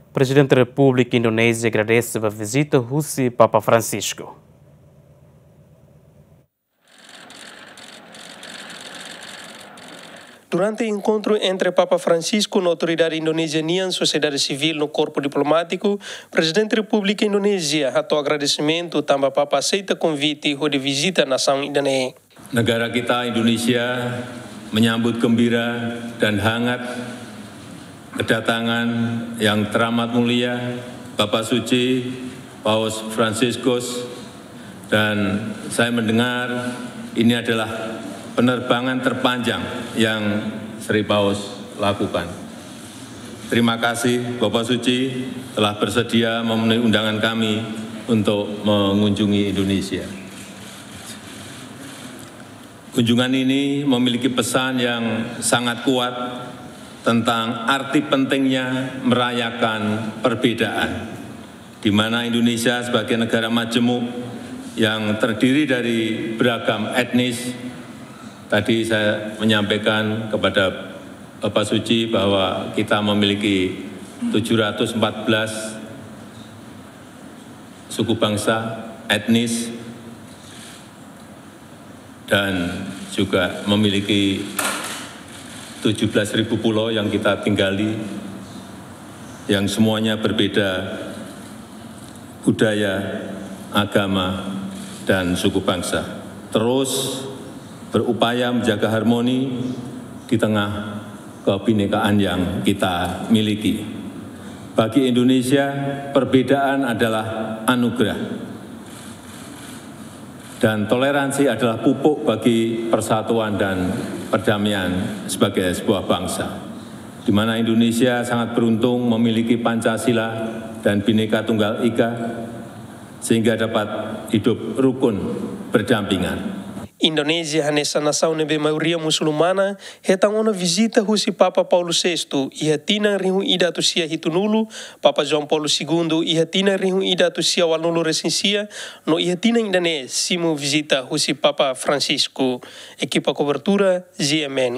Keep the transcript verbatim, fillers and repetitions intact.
Prezidente Repúblika Indonézia agradese ba vizita husi Papa Francisco. Durante enkontru entre Papa Francisco no autoridade Indonézia nian, sosiedade sivíl no korpu diplomátiku, Prezidente Repúblika Indonézia hato'o agradesimentu tanba Papa aseita konvite hodi vizita nasaun ida-ne'e. Negara kita, Indonesia, menyambut gembira dan hangat kedatangan Yang Teramat Mulia Bapa Suci Paus Fransiskus, dan saya mendengar ini adalah penerbangan terpanjang yang Sri Paus lakukan. Terima kasih, Bapa Suci, telah bersedia memenuhi undangan kami untuk mengunjungi Indonesia. Kunjungan ini memiliki pesan yang sangat kuat tentang arti pentingnya merayakan perbedaan, di mana Indonesia sebagai negara majemuk yang terdiri dari beragam etnis, tadi saya menyampaikan kepada Bapak Suci bahwa kita memiliki tujuh ratus empat belas suku bangsa, etnis, dan juga memiliki tujuh belas ribu pulau yang kita tinggali, yang semuanya berbeda budaya, agama, dan suku bangsa. Terus berupaya menjaga harmoni di tengah kebinekaan yang kita miliki. Bagi Indonesia, perbedaan adalah anugerah. Dan toleransi adalah pupuk bagi persatuan dan perdamaian sebagai sebuah bangsa. Di mana Indonesia sangat beruntung memiliki Pancasila dan Bhinneka Tunggal Ika, sehingga dapat hidup rukun berdampingan. Indonézia hanesan nasaun ne'ebé maioria musulmana, hetan ona vizita husi Papa Paulo sexto iha tinan rihun ida atus sia hitunulu, Papa João Paulo segundo iha tinan rihun ida atus sia ualunulu resin sia, no iha tinan ida-ne'e simu vizita husi Papa Francisco. Ekipa kobertura, G M N.